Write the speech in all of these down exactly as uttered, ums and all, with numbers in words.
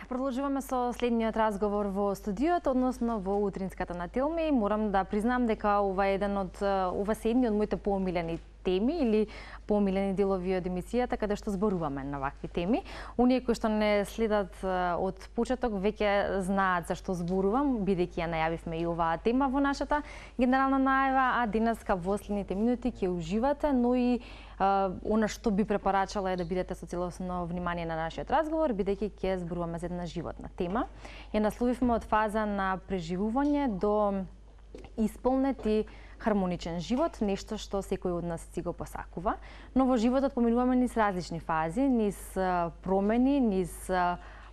Продолжуваме со следниот разговор во студиото, односно во утринската на Телми. Морам да признам дека ова е еден од ова се едни од моите поомилени теми или поомилени делови од емисијата каде што зборуваме на вакви теми. Оние кои што не следат од почеток веќе знаат за што зборувам, бидејќи ја најавивме и оваа тема во нашата генерална најава, а денеска во следните минути ќе уживате, но и Uh, она што би препорачала е да бидете со целосно внимание на нашиот разговор, бидејќи ќе зборуваме за една животна тема. Ја насловивме од фаза на преживување до исполнет и хармоничен живот, нешто што секој од нас си го посакува. Но во животот поминуваме низ различни фази, низ промени, низ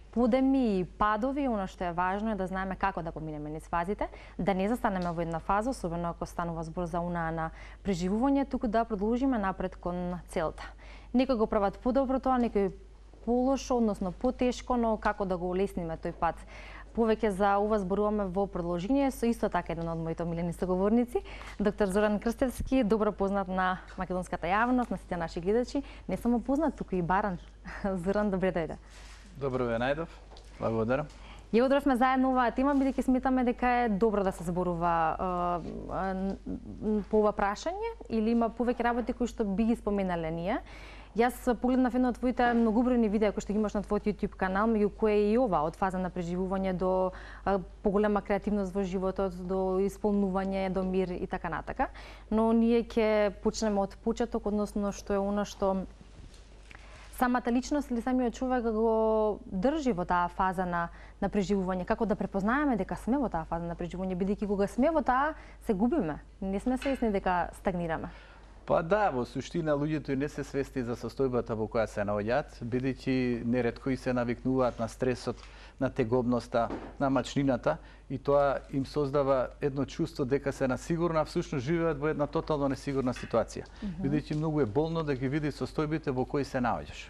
подеми и падови. Оно што е важно е да знаеме како да поминеме низ фазите, да не застанеме во една фаза, особено ако станува збор за унаа на преживување, туку да продолжиме напред кон целта. Некои го прават подобро тоа, некои полошо, односно потешко, но како да го улесниме тој пат. Повеќе за ова зборуваме во продолжение со исто така еден од моите омилени соговорници, доктор Зоран Крстевски, добро познат на македонската јавност, на сите наши гледачи, не само познат, туку и баран. Зоран, добре дојде. Добро ве најдов. Благодарам. Ја одровме заедно оваа тема, бидејќи сметаме дека е добро да се зборува е, е, по ова прашање, или има повеќе работи кои што би ги споменале ние. Јас погледнав едно од твоите многобројни видеа кои што ги имаш на твојот YouTube канал, меѓу кои е и ова, од фаза на преживување до е, поголема креативност во животот, до исполнување, до мир и така натака. Но ние ќе почнеме од почеток, односно што е она што самата личност или самиот човек го држи во таа фаза на, на преживување, како да препознаеме дека сме во таа фаза на преживување, бидејќи кога сме во таа, се губиме. Не сме свесни дека стагнираме. Па да, во суштина луѓето и не се свесни за состојбата во која се наоѓаат, бидејќи неретко и се навикнуваат на стресот, на тегобноста, на мачнината, и тоа им создава едно чувство дека се на сигурна, а всушност живеат во една тотално несигурна ситуација. Mm -hmm. Бидејќи многу е болно да ги видиш состојбите во кои се наоѓаш.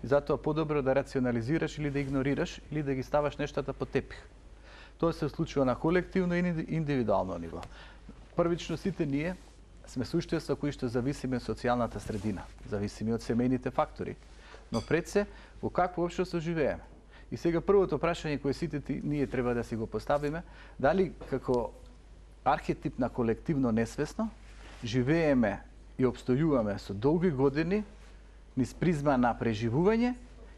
И затоа подобро да рационализираш или да игнорираш или да ги ставаш нештата под тепих. Тоа се случува на колективно и индивидуално ниво. Првично сите ние сме суштества кои што зависиме од социјалната средина, зависиме од семејните фактори. Но пред се, во какво општество живееме? И сега првото прашање кое сите ние треба да си го поставиме, дали како архетип на колективно несвесно живееме и обстојуваме со долги години низ призма на преживување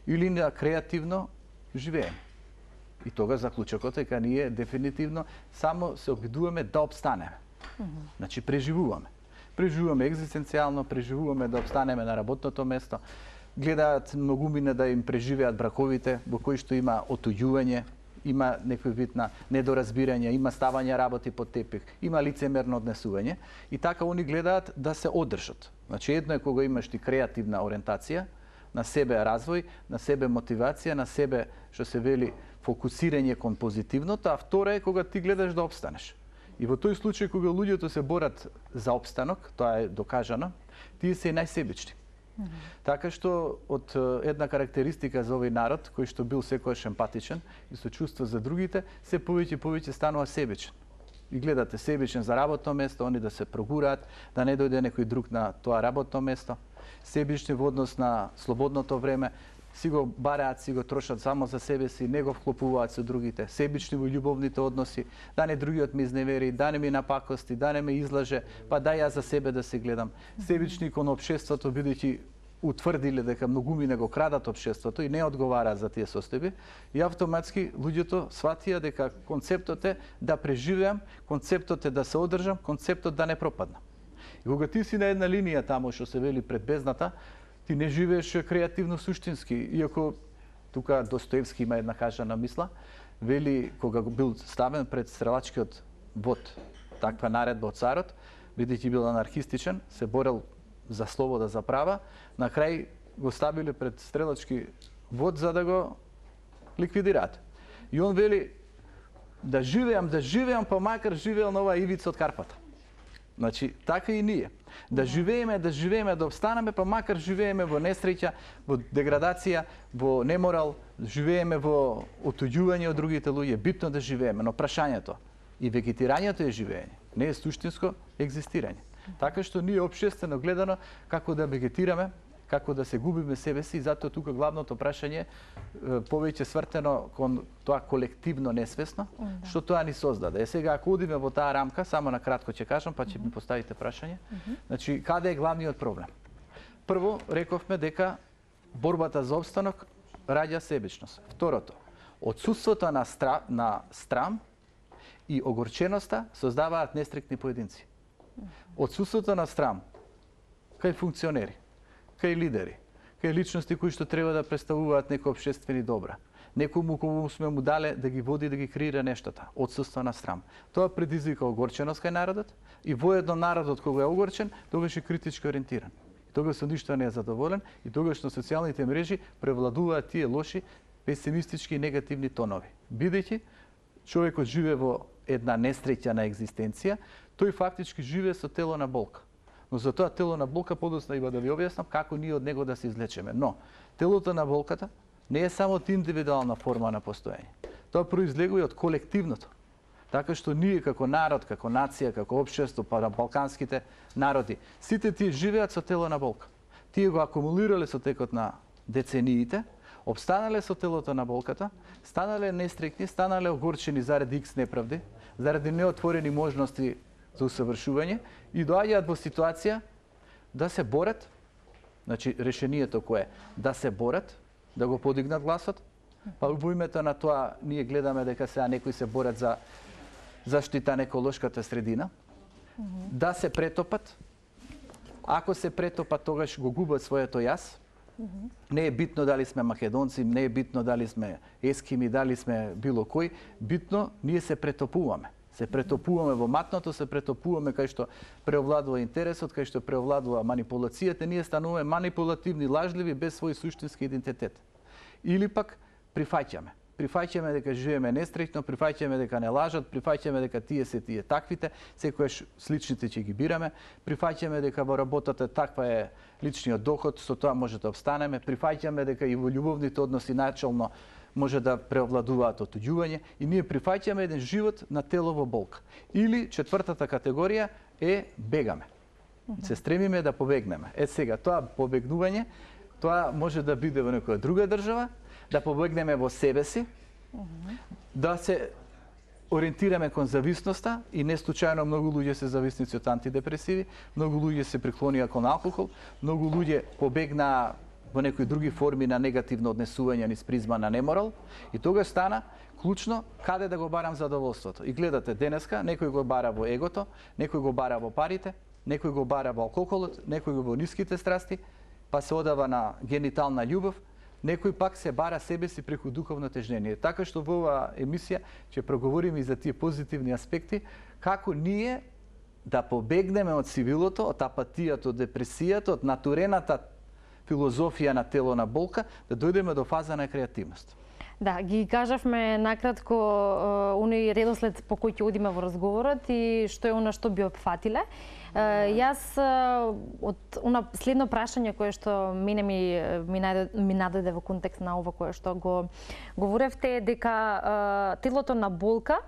или на креативно живееме. И тога заклучокот е дека ние дефинитивно само се обидуваме да обстанеме. Mm -hmm. Значи преживуваме. Преживуваме екзистенцијално, преживуваме да обстанеме на работното место. Гледаат многумина да им преживеат браковите во кои што има отуѓување, има некој вид на недоразбирање, има ставање работи под тепих, има лицемерно однесување и така они гледаат да се одржат. Значи едно е кога имаш ти креативна ориентација, на себе развој, на себе мотивација, на себе што се вели фокусирање кон позитивното, а втора е кога ти гледаш да обстанеш. И во тој случај кога луѓето се борат за обстанок, тоа е докажано, тие се и најсебични. Mm -hmm. Така што од една карактеристика за овој народ, кој што бил секојаш емпатичен и со чувство за другите, се повеќе и повеќе станува себичен. И гледате себичен за работно место, они да се прогураат, да не дојде некој друг на тоа работно место. Себични во однос на слободното време, си го бараат, си го трошат само за себе си, не го вклопуваат со другите. Себични во љубовните односи, да не другиот ме изневери, да не ми напакости, да не ме излаже, па да ја за себе да се гледам. Себични кон општеството, бидејќи утврдиле дека многумина го крадат општеството и не одговараат за тие состојби, и автоматски луѓето сватија дека концептот е да преживеам, концептот е да се одржам, концептот да не пропаднам. И кога ти си на една линија тамо што се вели пред бездната, ти не живееш креативно суштински, иако тука Достоевски има една кажана мисла, вели кога бил ставен пред стрелачкиот вод, таква наредба од царот, бидејќи бил анархистичен, се борел за слобода, за права, на крај го ставиле пред стрелачки вод за да го ликвидираат. И он вели да живеам, да живеам, па макар живеел на оваа ивица од Карпата. Значи, така и ние. Да живееме, да живееме, да обстанеме, па макар живееме во несреќа, во деградација, во неморал, живееме во отуѓување од другите луѓе, битно да живееме, но прашањето и вегетирањето е живеење, не е суштинско екзистирање. Така што ние општествено гледано како да вегетираме, како да се губиме себе си, и затоа тука главното прашање повеќе свртено кон тоа колективно несвесно, да. Што тоа ни создаде. Е сега ако одиме во таа рамка, само на кратко ќе кажам, па ќе ми поставите прашање. Значи, каде е главниот проблем? Прво, рековме дека борбата за опстанок раѓа себичност. Второто, отсутството на, стра, на страм и огорченоста создаваат нестрикни поединци. Отсутството на страм кај функционери, кај лидери, кај личности кои што треба да представуваат некои општествени добра. Некому кому сме му дале да ги води, да ги креира нештата. Отсутство на страм. Тоа предизвика огорченост кај народот и воедно народот кога е огорчен, тогаш е критички ориентиран. Тогаш со ништо не е задоволен и тогаш на социјалните мрежи превладуваат тие лоши, песимистички и негативни тонови. Бидејќи човекот живее во една несреќена екзистенција, тој фактички живее со тело на болка. Но за тоа тело на болка подоцна има да ви објаснам како ние од него да се излечеме. Но телото на болката не е само индивидуална форма на постоење. Тоа произлегува од колективното. Така што ние како народ, како нација, како општество, па на балканските народи, сите тие живеат со тело на болка. Тие го акумулирале со текот на децениите, обстанале со телото на болката, станале нестрекни, станале огорчени заради икс неправди, заради неотворени можности за усавршување и доаѓаат во ситуација да се борат, значи решението кое е да се борат, да го подигнат гласот, па во името на тоа ние гледаме дека сега некои се борат за заштита на еколошката средина, mm-hmm. да се претопат. Ако се претопат, тогаш го губат своето јас. Mm-hmm. Не е битно дали сме македонци, не е битно дали сме ескими, дали сме било кој. Битно, ние се претопуваме. Се претопуваме во матното, се претопуваме кај што преовладува интересот, кај што преовладува манипулацијата, ние стануваме манипулативни, лажливи, без свој суштински идентитет. Или пак прифаќаме. Прифаќаме дека живееме нестрекно, прифаќаме дека не лажат, прифаќаме дека тие се тие таквите, секојаш сличните ќе ги бираме, прифаќаме дека во работата таква е личниот доход, со тоа може да обстанеме, прифаќаме дека и во љубовните односи начално може да преовладуваат отуѓување и ние прифаќаме еден живот на тело во болка. Или четвртата категорија е бегаме. Се стремиме да побегнеме. Е сега, тоа побегнување, тоа може да биде во некоја друга држава, да побегнеме во себе си, да се ориентираме кон зависноста и не случајно многу луѓе се зависници од антидепресиви, многу луѓе се приклонија кон алкохол, многу луѓе побегнаа во некои други форми на негативно однесување низ призма на неморал и тогаш стана клучно каде да го барам задоволството. И гледате денеска, некој го бара во егото, некој го бара во парите, некој го бара во алкохолот, некој го во ниските страсти, па се одава на генитална љубов, некој пак се бара себе си преку духовно тежнение. Така што во оваа емисија ќе проговориме и за тие позитивни аспекти, како ние да побегнеме од сивилото, од апатијата, од депресијата, од натурената филозофија на тело на болка, да дојдеме до фаза на креативност. Да, ги кажавме накратко оној редослед по кој ќе одиме во разговорот и што е она што би опфатиле. Јас од она следно прашање кое што мене ми ми, ми нададе во контекст на ова кое што го говоревте дека телото на болка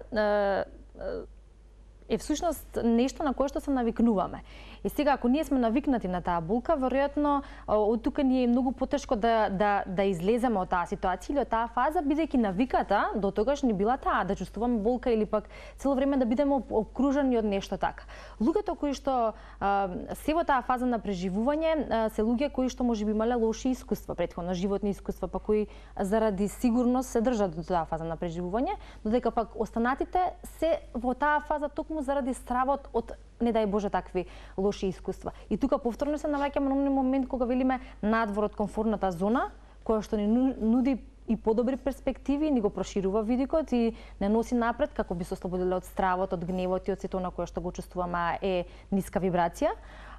е всушност нешто на кое што се навикнуваме. И сега, ако ние сме навикнати на таа болка, веројатно од тука ни е многу потешко да, да, да излеземе од таа ситуација или од таа фаза, бидејќи навиката до тогаш ни била таа, да чувствуваме болка или пак цело време да бидеме окружени од нешто така. Луѓето кои што а, се во таа фаза на преживување, а, се луѓе кои што можеби имале лоши искуства, претходно животни искуства, па кои заради сигурност се држат до таа фаза на преживување, додека пак останатите се во таа фаза токму заради стравот од не дај Боже такви лоши искуства. И тука повторно се наваќаме на оној момент кога велиме надвор од комфортната зона, која што ни нуди и подобри перспективи, ни го проширува видикот и не носи напред како би се ослободиле од стравот, од гневот и од сето на кое што го чувствуваме е ниска вибрација.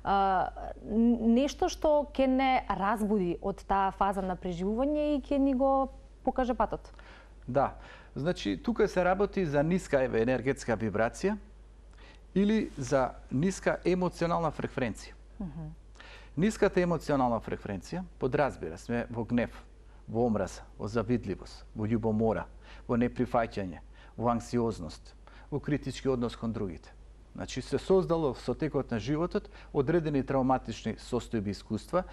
А, нешто што ќе не разбуди од таа фаза на преживување и ќе ни го покаже патот. Да, значи тука се работи за ниска енергетска вибрација или за ниска емоционална фреквенција. Mm-hmm. Ниската емоционална фреквенција подразбира сме во гнев, во омраза, во завидливост, во љубомора, во неприфаќање, во анксиозност, во критички однос кон другите. Значи се создало со текот на животот одредени травматични состојби искуства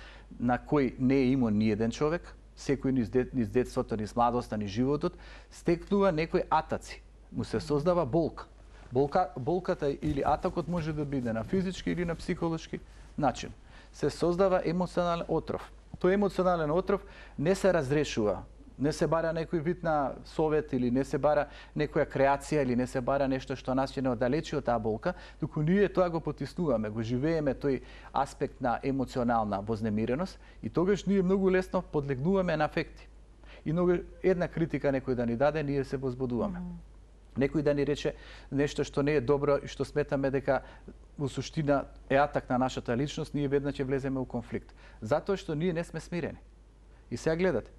на кои не е имал ни еден човек, секој низ, дет, низ детството, низ младоста, низ животот, стекнува некои атаци. Му се создава болка. Болка, болката или атакот може да биде на физички или на психолошки начин. Се создава емоционален отров. Тој емоционален отров не се разрешува. Не се бара некој вид на совет или не се бара некоја креација или не се бара нешто што нас ќе не оддалечи од таа болка, туку ние тоа го потиснуваме, го живееме тој аспект на емоционална вознемиреност и тогаш ние многу лесно подлегнуваме на афекти. И многу една критика некој да ни даде, ние се возбудуваме. Mm-hmm. Некој да ни рече нешто што не е добро и што сметаме дека во суштина е атак на нашата личност, ние веднаш ќе влеземе во конфликт. Затоа што ние не сме смирени. И сега гледате,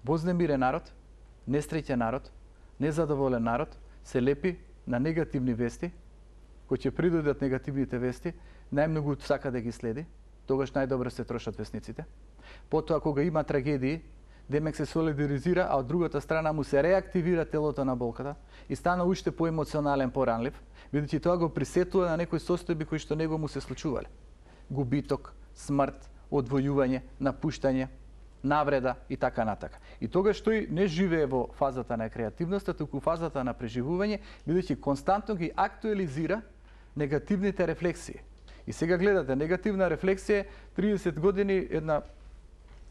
вознемирен народ, несреќен народ, незадоволен народ се лепи на негативни вести, кои ќе придодат негативните вести, најмногу сака да ги следи, тогаш најдобро се трошат весниците. Потоа кога има трагедии, демек се солидаризира, а од другата страна му се реактивира телото на болката и стана уште поемоционален, поранлив, бидејќи тоа го присетува на некои состојби кои што него му се случувале. Губиток, смрт, одвојување, напуштање, навреда и така натака. И тогаш тој не живее во фазата на креативноста, туку фазата на преживување, бидејќи константно ги актуализира негативните рефлексии. И сега гледате, негативна рефлексија триесет години една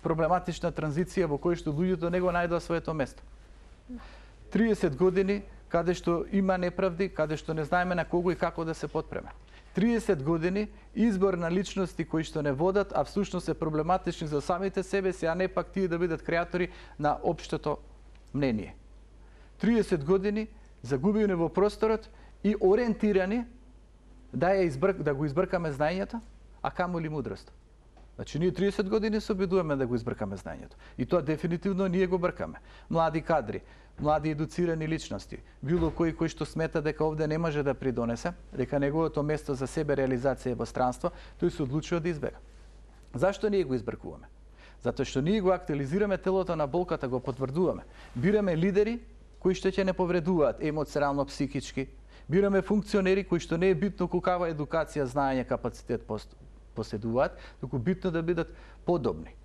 проблематична транзиција во која што луѓето не го најдоа своето место. триесет години каде што има неправди, каде што не знаеме на кого и како да се потпреме. триесет години избор на личности кои што не водат, а всушност се проблематични за самите себе си, а не пак тие да бидат креатори на општото мнение. триесет години загубени во просторот и ориентирани да ја избрк, да го избркаме знаењето, а камоли мудрост. Значи ние триесет години се обидуваме да го избркаме знаењето. И тоа дефинитивно ние го бркаме. Млади кадри, млади едуцирани личности, било кој кој што смета дека овде не може да придонесе, дека неговото место за себе реализација е во странство, тој се одлучува да избега. Зашто ние го избркуваме? Затоа што ние го актуализираме телото на болката, го потврдуваме. Бираме лидери кои што ќе не повредуваат емоционално, психички. Бираме функционери кои што не е битно каква едукација, знаење, капацитет поседуваат, туку битно да бидат подобни,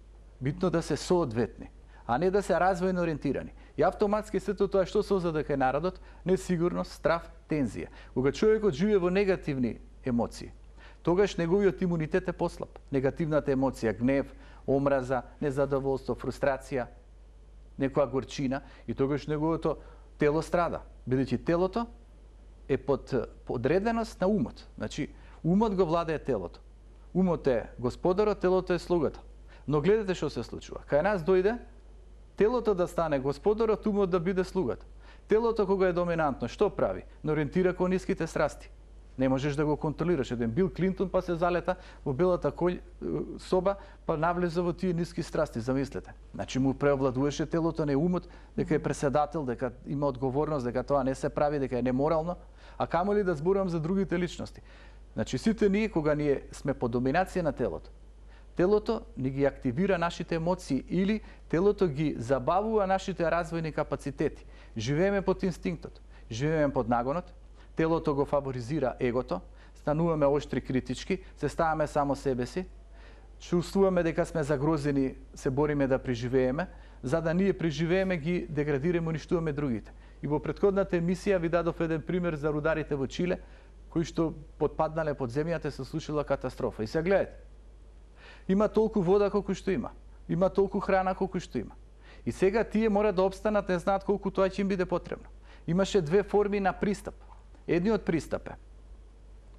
битно да се соодветни, а не да се развојно ориентирани. И автоматски сето тоа што создаде кај народот? Несигурност, страв, тензија. Кога човекот живее во негативни емоции, тогаш неговиот имунитет е послаб. Негативната емоција, гнев, омраза, незадоволство, фрустрација, некоја горчина, и тогаш неговото тело страда, бидејќи телото е под подреденост на умот. Значи, умот го владее телото. Умот е господарот, телото е слугата. Но гледате што се случува. Кај нас дојде телото да стане господарот, умот да биде слугата. Телото кога е доминантно, што прави? Не ориентира кон ниските страсти. Не можеш да го контролираш. Еден Бил Клинтон па се залета во белата кој, соба, па навлеза во тие ниски страсти, замислете. Значи му преовладуваше телото, не умот, дека е преседател, дека има одговорност, дека тоа не се прави, дека е неморално, а камоли да зборувам за другите личности. Значи сите ние кога ние сме под доминација на телото, телото ни ги активира нашите емоции или телото ги забавува нашите развојни капацитети. Живееме под инстинктот, живееме под нагонот, телото го фаворизира егото, стануваме оштри критички, се ставаме само себе си, чувствуваме дека сме загрозени, се бориме да преживееме, за да ние преживееме ги деградираме, уништуваме другите. И во претходната емисија ви дадов еден пример за рударите во Чиле, кои што потпаднале под земјата, се случила катастрофа. И се гледате, има толку вода колку што има, има толку храна колку што има. И сега тие мора да обстанат, не знаат колку тоа ќе им биде потребно. Имаше две форми на пристап. Едниот пристап е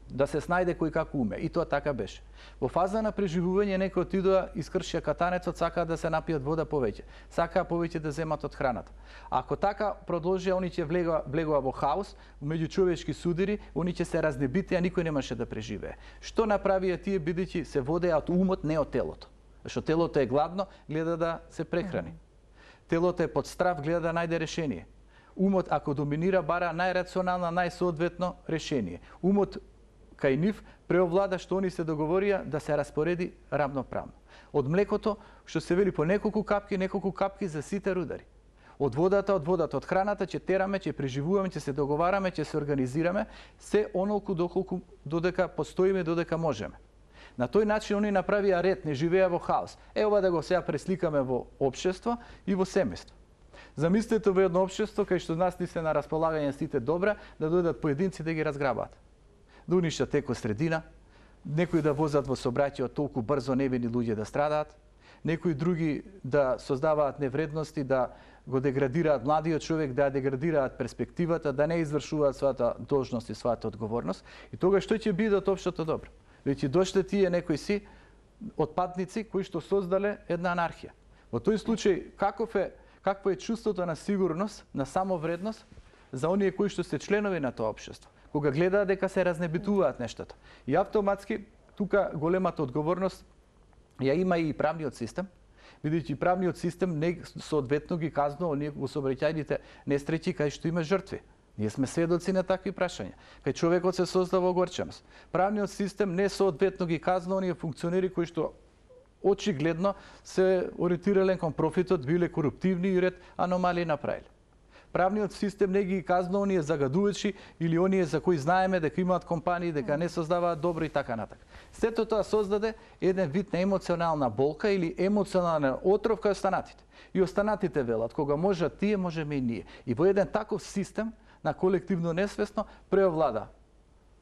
да се снајде кој како уме, и тоа така беше. Во фаза на преживување некој отидоа, искршија катанецот, сакаа да се напијат вода повеќе, сакаа повеќе да земат од храната. Ако така продолжија, они ќе влегува, влегува во хаос, меѓу човечки судири, они ќе се разнебите, а никој немаше да преживее. Што направија тие, бидејќи се водеа од умот, не од телото? Зашто телото е гладно, гледа да се прехрани. Телото е под страв, гледа да најде решение. Умот, ако доминира, бара најрационално, најсоодветно решение. Умот кај нив преовлада што они се договорија да се распореди рамноправно. Од млекото, што се вели по неколку капки, неколку капки за сите рудари. Од водата, од водата, од храната ќе тераме, ќе преживуваме, ќе се договараме, ќе се организираме, се онолку доколку додека постоиме, додека можеме. На тој начин они направија ред, не живеа во хаос. Ева да го сега пресликаме во општество и во семејство. Замислете во едно општество кај што нас ни се на располагање сите добра, да дојдат поединци да ги разграбат. Да уништат екосредина, некои да возат во сообраќајот толку брзо невини луѓе да страдаат, некои други да создаваат невредности, да го деградираат младиот човек, да деградираат перспективата, да не извршуваат својата должност и својата одговорност. И тога што ќе биде од општото добро? Веќе дошле тие некои си отпадници кои што создале една анархија. Во тој случај каков е какво е чувството на сигурност, на самовредност за оние кои што се членови на тоа општество, кога гледаат дека се разнебитуваат нештата. И автоматски тука големата одговорност ја има и правниот систем, бидејќи правниот систем не соодветно ги казнува оние во сообраќајните несреќи кај што има жртви. Ние сме сведоци на такви прашања. Кај човекот се создава огорченост. Правниот систем не соодветно ги казнува оние функционери кои што очигледно се ориентирале кон профитот, биле коруптивни и ред аномалии направиле. Правниот систем не ги казнува оние загадувачи или оние за кои знаеме дека имаат компании, дека не создаваат добро и така натака. Сето тоа создаде еден вид на емоционална болка или емоционален отров кај останатите. И останатите велат, кога можат тие, можеме и ние. И во еден таков систем на колективно несвесно преовлада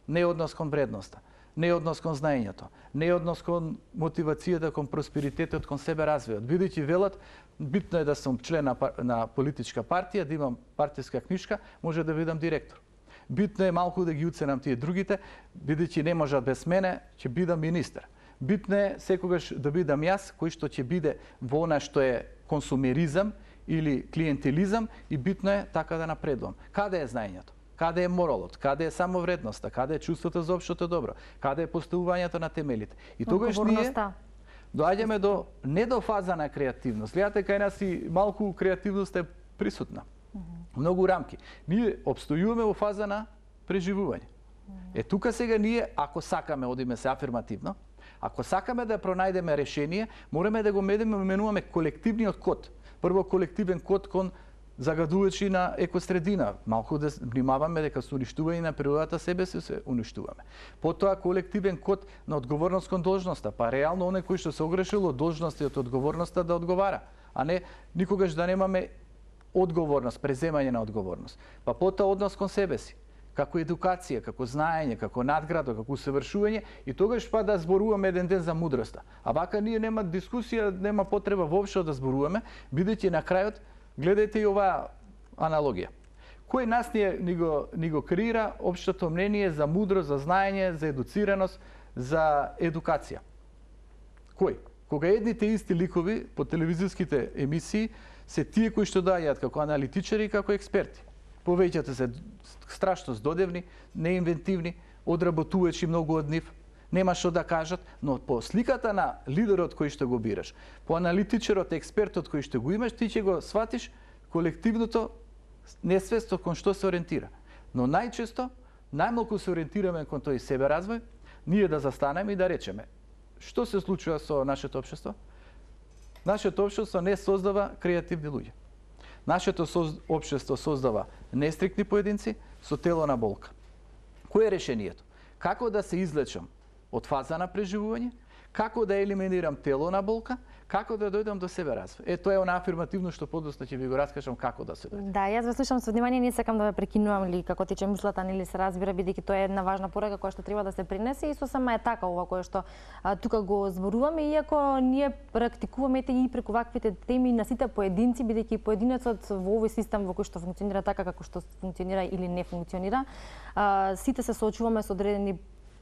неоднос кон вредноста, неоднос кон знаењето, неоднос кон мотивацијата, кон просперитетот, кон себе развојот. Бидејќи велат, битно е да сум член на, на политичка партија, да имам партиска книжка, може да бидам директор. Битно е малку да ги уценам тие другите, бидејќи не можат без мене, ќе бидам министер. Битно е секогаш да бидам јас, кој што ќе биде во она што е консумеризам или клиентелизам и битно е така да напредувам. Каде е знаењето? Каде е моралот? Каде е самовредноста? Каде е чувството за општото добро? Каде е поставувањето на темелите? И тогаш ние доаѓаме до не до фаза на креативност. Гледате кај нас и малку креативност е присутна. Многу рамки. Ние обстојуваме во фаза на преживување. Е тука сега ние ако сакаме одиме се афирмативно, ако сакаме да пронајдеме решение, мораме да го менуваме колективниот код. Прво колективен код кон загадувачи на екосредина. Малку да внимаваме дека се уништување на природата, себе се се уништуваме. Потоа колективен код на одговорност кон должноста, па реално оној кој што се огрешил од должноста и од одговорноста да одговара, а не никогаш да немаме одговорност, преземање на одговорност. Па потоа однос кон себе си, како едукација, како знаење, како надградо, како усавршување и тогаш па да зборуваме еден ден за мудроста. А вака ние нема дискусија, нема потреба воопшто да зборуваме, бидејќи на крајот гледајте и оваа аналогија. Кој нас ни, ни, го, ни го креира општото мнение за мудрост, за знаење, за едуцираност, за едукација? Кој? Кога едните исти ликови по телевизиските емисии се тие кои што доаѓаат како аналитичари и како експерти. Повеќето се страшно здодевни, неинвентивни, одработувачи многу од нив, нема што да кажат, но по сликата на лидерот кој што го бираш, по аналитичарот, експертот кој што го имаш, ти ќе го сватиш колективното несвество кон што се ориентира. Но најчесто, најмалку се ориентираме кон тој себе развој, ние да застанеме и да речеме што се случува со нашето општество? Нашето општество не создава креативни луѓе. Нашето соз... општество создава нестрикни поединци со тело на болка. Кој е решението? Како да се излечам од фаза на преживување, како да елиминирам тело на болка, како да дојдам до себе развој. Е, тоа е она афирмативно што подоцна ќе ви го раскажам како да се дојде. Да, јас ве слушам со внимание, не сакам да ве прекинувам ли како тече мислата, нели се разбира, бидејќи тоа е една важна порака која што треба да се принесе и со сама е така ова кое што а, тука го зборуваме, иако ние практикуваме и преку ваквите теми на сите поединци, бидејќи поединецот во овој систем во кој што функционира така како што функционира или не функционира, а, сите се соочуваме со одредени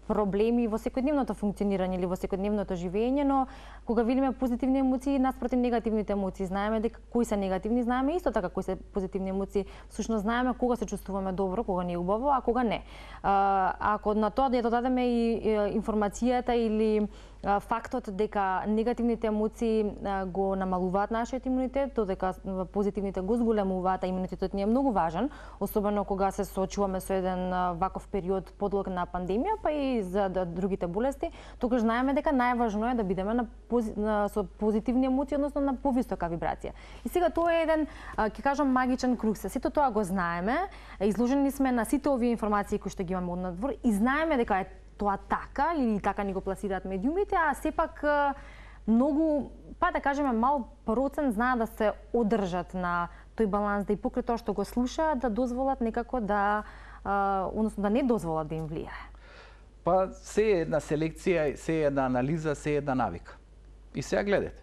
проблеми во секојдневното функционирање или во секојдневното живење, но кога видиме позитивни емоции наспротив негативните емоции, знаеме дека кои се негативни, знаеме исто така кои се позитивни емоции. Всушност знаеме кога се чувствуваме добро, кога не е убаво, а кога не. А, ако на тоа да ја додадеме и информацијата или фактот дека негативните емоции го намалуваат нашиот имунитет, додека позитивните го зголемуваат, а имунитетот ни е многу важен, особено кога се соочуваме со еден ваков период подлог на пандемија, па и за другите болести, тогаш знаеме дека најважно е да бидеме на, пози... на со позитивни емоции, односно на повисока вибрација. И сега тоа е еден, ќе кажам, магичен круг. Сето тоа го знаеме, изложени сме на сите овие информации кои што ги имаме од надвор и знаеме дека е тоа така или така ни го пласираат медиумите, а сепак многу, па да кажеме, мал процент знаат да се одржат на тој баланс, да и покрај тоа што го слушаат, да дозволат некако да, односно да не дозволат да им влијае. Па се е една селекција, се е една анализа, се е една навика. И сега гледате.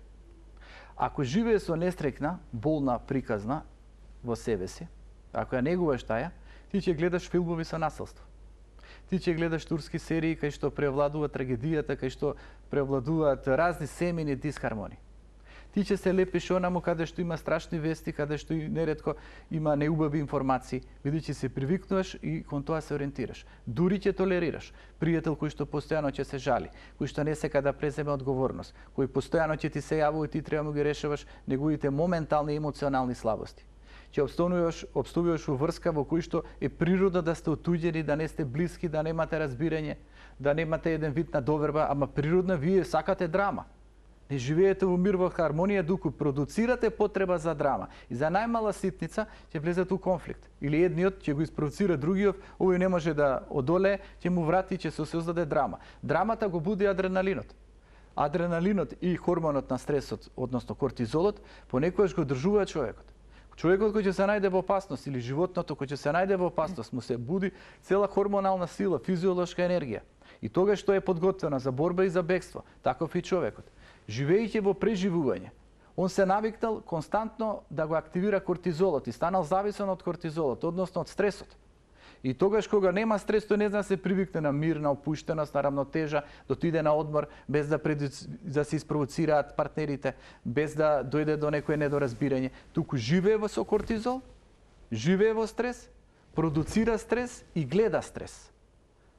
Ако живее со нестрекна, болна приказна во себе си, ако ја негуваш таја, ти ќе гледаш филмови со насилство. Ти ќе гледаш турски серии кај што превладува трагедијата, кај што превладуваат разни семени дисхармонии. Ти ќе се лепиш онаму каде што има страшни вести, каде што и неретко има неубави информации, бидејќи се привикнуваш и кон тоа се ориентираш. Дури ќе толерираш пријател кој што постојано ќе се жали, кој што не сека да преземе одговорност, кој постојано ќе ти се јавува и ти треба да ги решаваш неговите моментални емоционални слабости. Ќе обстојуваш, обстојуваш во врска во кој што е природа да сте отуѓени, да не сте блиски, да немате разбирање, да немате еден вид на доверба, ама природна вие сакате драма. Не живеете во мир, во хармонија, дуку продуцирате потреба за драма. И за најмала ситница ќе влезете у конфликт. Или едниот ќе го испровоцира другиот, овој не може да одолее, ќе му врати, ќе се создаде драма. Драмата го буди адреналинот. Адреналинот и хормонот на стресот, односно кортизолот, понекогаш го држува човекот. Човекот кој ќе се најде во опасност или животното кој ќе се најде во опасност, му се буди цела хормонална сила, физиолошка енергија. И тогаш што е подготвено за борба и за бегство, таков и човекот. Живејќи во преживување, он се навикнал константно да го активира кортизолот и станал зависен од кортизолот, односно од стресот. И тогаш кога нема стрес, тој не зна се привикне на мир, на опуштеност, на равнотежа, да отиде на одмор без да, пред... да се испровоцираат партнерите, без да дојде до некое недоразбирање. Туку живее во со кортизол, живее во стрес, продуцира стрес и гледа стрес.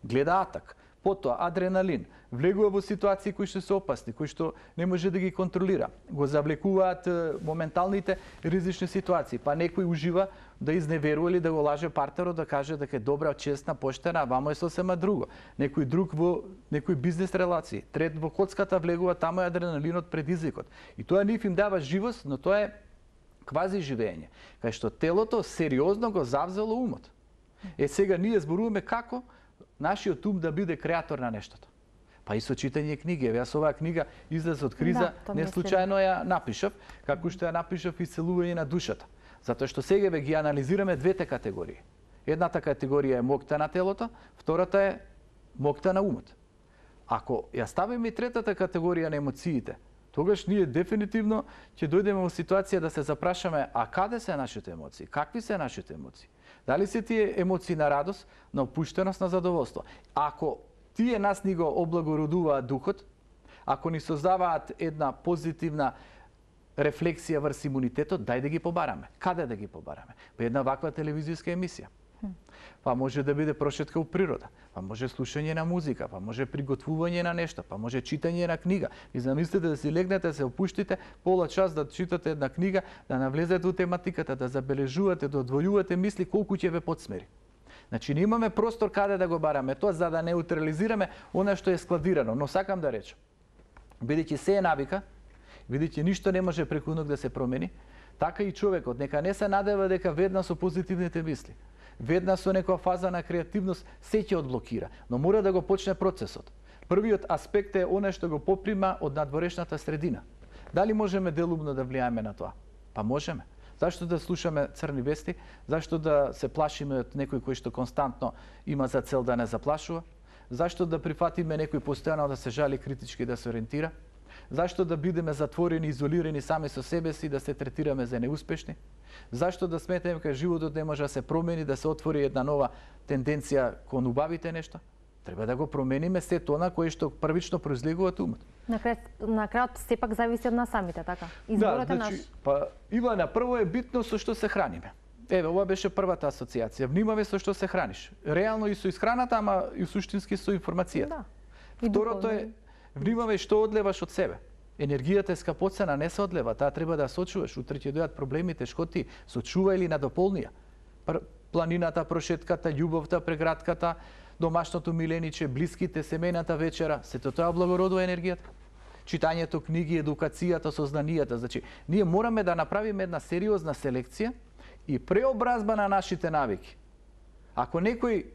Гледа атак. Потоа адреналин, влегува во ситуации кои што се опасни, кои што не може да ги контролира. Го завлекуваат моменталните ризични ситуации, па некој ужива да изневерува или да го лаже партнерот, да каже дека е добра, честна, поштена, а вамо е сосема друго. Некој друг во некој бизнес релации, трет во коцката влегува, таму е адреналинот, предизвикот. И тоа нив им дава живост, но тоа е квази живење, кај што телото сериозно го завзело умот. Е сега ние зборуваме како нашиот ум да биде креатор на нештото. Па и со читање книги. Еве јас оваа книга излез од криза, да, не случајно ја напишав, како што ја напишав исцелување на душата. Затоа што сега ве ги анализираме двете категории. Едната категорија е мокта на телото, втората е мокта на умот. Ако ја ставиме и третата категорија на емоциите, тогаш ние дефинитивно ќе дојдеме во ситуација да се запрашаме, а каде се нашите емоции? Какви се нашите емоции? Дали се тие емоции на радост, на опуштеност, на задоволство? Ако тие нас ни го облагородуваат духот, ако ни создаваат една позитивна рефлексија врз имунитетот, дај да ги побараме. Каде да ги побараме? Па една ваква телевизијска емисија. Па може да биде прошетка у природа, па може слушање на музика, па може приготвување на нешто, па може читање на книга. И замислете да си легнете, се опуштите, пола час да читате една книга, да навлезете у тематиката, да забележувате, да одвојувате мисли колку ќе ве подсмери. Значи, не имаме простор каде да го бараме тоа, за да неутрализираме она што е складирано. Но сакам да речам, бидејќи се е навика, бидејќи ништо не може преку ног да се промени, така и човекот нека не се надева дека веднаш со позитивните мисли, веднаш со некоја фаза на креативност се ќе одблокира, но мора да го почне процесот. Првиот аспект е оно што го поприма од надворешната средина. Дали можеме делумно да влијаеме на тоа? Па можеме. Зашто да слушаме црни вести? Зашто да се плашиме од некој кој што константно има за цел да не заплашува? Зашто да прифатиме некој постојано да се жали критички да се ориентира? Зашто да бидеме затворени, изолирани сами со себе си, да се третираме за неуспешни? Зашто да сметаме дека животот не може да се промени, да се отвори една нова тенденција кон убавите нешто? Треба да го промениме се тоа кое што првично произлегува од умот. На крајот, на крајот сепак зависи од нас самите, така? Изборот да, е значи, наш. Па, Ивана, прво е битно со што се храниме. Еве, ова беше првата асоциација. Внимавај со што се храниш. Реално и со исхраната, ама и суштински со информацијата. Да. Второто е Внимавај што одлеваш од себе. Енергијата е скапоцена, не се одлева, таа треба да сочуваш. Утре ќе дојдат проблемите, шкоти, сочува или надополнија. Планината, прошетката, љубовта, преградката, домашното милениче, блиските, семејната вечера, сето тоа облагородува енергијата. Читањето книги, едукацијата, сознанијата. Значи, ние мораме да направиме една сериозна селекција и преобразба на нашите навики. Ако некој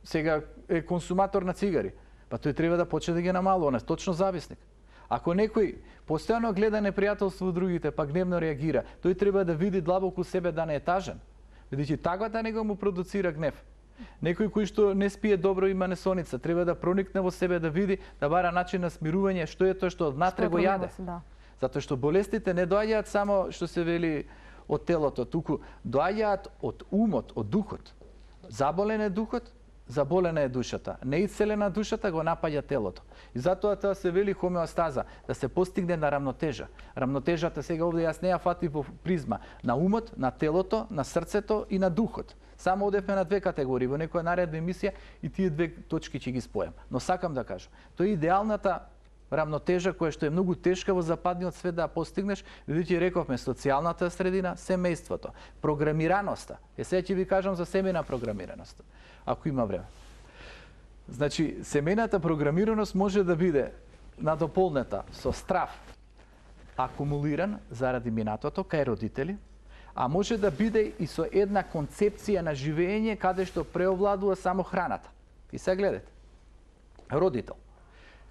сега е консуматор на цигари, па тој треба да почне да ги намалува, он е точно зависник. Ако некој постојано гледа непријателство од другите, па гневно реагира, тој треба да види длабоко себе да не е тажен. Бидејќи таквата него му продуцира гнев. Некој кој што не спие добро, има несоница, треба да проникне во себе, да види, да бара начин на смирување, што е тоа што однатре го јаде. Да. Затоа што болестите не доаѓаат само што се вели од телото, туку доаѓаат од умот, од духот. Заболен е духот, заболена е душата. Неисцелена душата го напаѓа телото. И затоа тоа се вели хомеостаза, да се постигне на рамнотежа. Рамнотежата сега овде јас не ја фатив во призма на умот, на телото, на срцето и на духот. Само одевме на две категории, во некоја наредна емисија и тие две точки ќе ги спојам. Но сакам да кажам, тоа е идеалната рамнотежа која што е многу тешка во западниот свет да постигнеш, бидејќи рековме социјалната средина, семејството, програмираноста. Е сега ќе ви кажам за семејна програмираност, ако има време. Значи, семејната програмираност може да биде надополнета со страв акумулиран заради минатото кај родители, а може да биде и со една концепција на живење каде што преовладува само храната. И сега гледате. Родител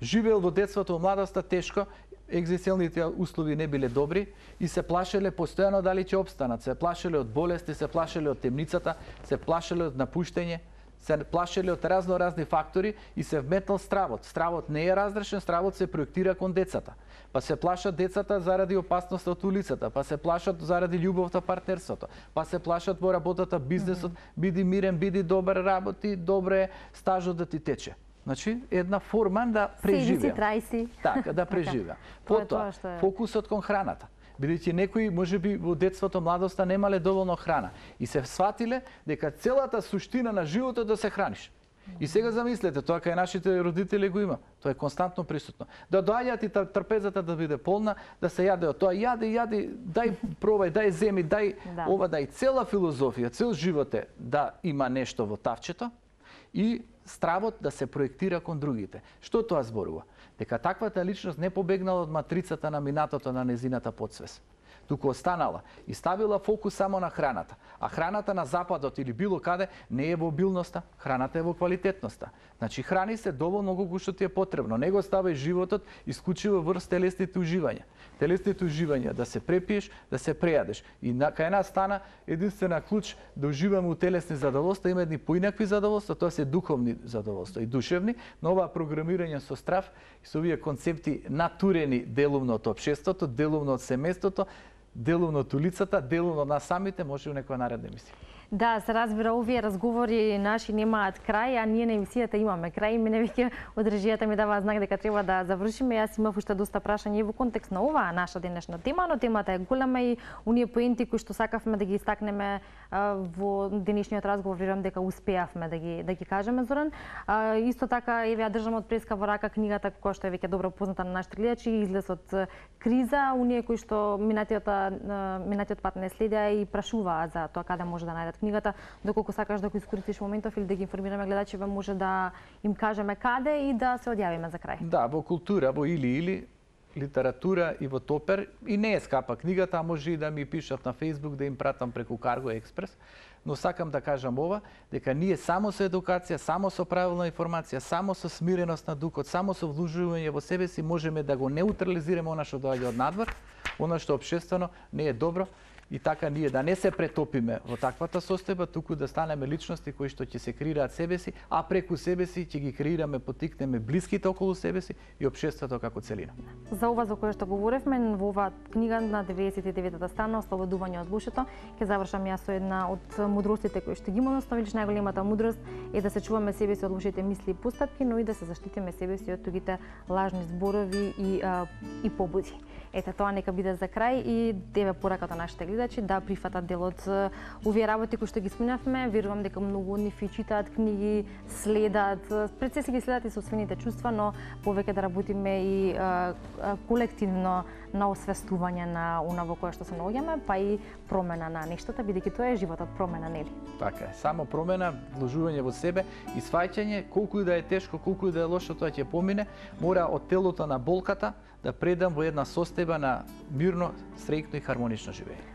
живеел во детството, младоста тешко, екзистенцијалните услови не биле добри и се плашеле постојано дали ќе опстанат. Се плашеле од болести, се плашеле од темницата, се плашеле од напуштање, се плашеле од разно разни фактори и се вметнал стравот. Стравот не е разрешен, стравот се проектира кон децата. Па се плашат децата заради опасност од улицата, па се плашат заради љубовта, партнерството, па се плашат во работата, бизнесот, биди мирен, биди добар, работи, добре, стажот да ти тече. Значи, една форма да преживеа. Седи си, трај си. Така, да преживеа. Потоа, фокусот кон храната. Бидејќи некои, можеби во детството, младоста немале доволно храна и се сватиле дека целата суштина на животот да се храниш. И сега замислете, тоа кај нашите родители го има. Тоа е константно присутно. Да доаѓаат и трпезата да биде полна, да се јаде од тоа, јади, јади, дај пробај, дај земи, дај да. Ова, дај цела филозофија, цел живот е да има нешто во тавчето и стравот да се проектира кон другите. Што тоа зборува? Дека таквата личност не побегнала од матрицата на минатото на незината подсвест, туку останала и ставила фокус само на храната. А храната на западот или било каде не е во обилноста, храната е во квалитетноста. Значи храни се доволно колку што ти е потребно. Не го ставај животот исклучиво врз телесните уживања. Телесните уживања да се препиеш, да се прејадеш. И на кај нас стана единствена клуч да уживаме у телесни задоволства, има едни поинакви задоволства, тоа се духовни задоволства и душевни, но ова програмирање со страв и со овие концепти натурени делумно од општеството, делумно од семејството, делумно од улицата, делумно на самите, може у некоја наредна емисија. Да, се разбира, овие разговори наши немаат крај, а ние на емисијата имаме крај. Мене веќе од режијата ми дава знак дека треба да завршиме. Јас имав уште доста прашања во контекст на оваа наша денешна тема, но темата е голема и оние поенти кои што сакавме да ги истакнеме во денешниот разговор, верувам дека успеавме да ги да ги кажеме, Зоран. А, исто така еве ја држам од преска во рака книгата која што е веќе добро позната на нашите гледачи, излез од криза, оние кои што минатиот минатиот пат не следеа и прашуваат за тоа каде може да најдат книгата, доколку сакаш да го искористиш моментов или да ги информираме гледачите, може да им кажеме каде и да се одјавиме за крај. Да, во култура, во или-или, литература и во Топер, и не е скапа книгата, а може и да ми пишат на Facebook, да им пратам преку Карго Експрес, но сакам да кажам ова, дека ние само со едукација, само со правилна информација, само со смиреност на духот, само со вложување во себе си можеме да го неутрализираме она што доаѓа од надвор, она што општествено не е добро, и така ние да не се претопиме во таквата состојба, туку да станеме личности кои што ќе се креираат себе си, а преку себе си ќе ги креираме, потикнеме блиските околу себе си и општеството како целина. За ова за кое што говоревме во оваа книга на деветдесет и деветата страна Ослободување од лошото, ќе завршам јас со една од мудростите кои што ги имаме, основно најголемата мудрост е да се чуваме себе си од лошите мисли и постапки, но и да се заштитиме себе си од тугите лажни зборови и а, и побуди. Ете, тоа нека биде за крај и деве пораката нашите гледачи. гледачи да прифатат дел од овие работи кои што ги спомнавме. Верувам дека многу од нив и читаат книги, следат, пред се си ги следат и собствените чувства, но повеќе да работиме и а, а, колективно на освестување на она во кое што се наоѓаме, па и промена на нештата, бидејќи тоа е животот, промена, нели? Така е, само промена, вложување во себе и сваќање колку и да е тешко, колку и да е лошо, тоа ќе помине, мора од телото на болката да предам во една состојба на мирно, среќно и хармонично живење.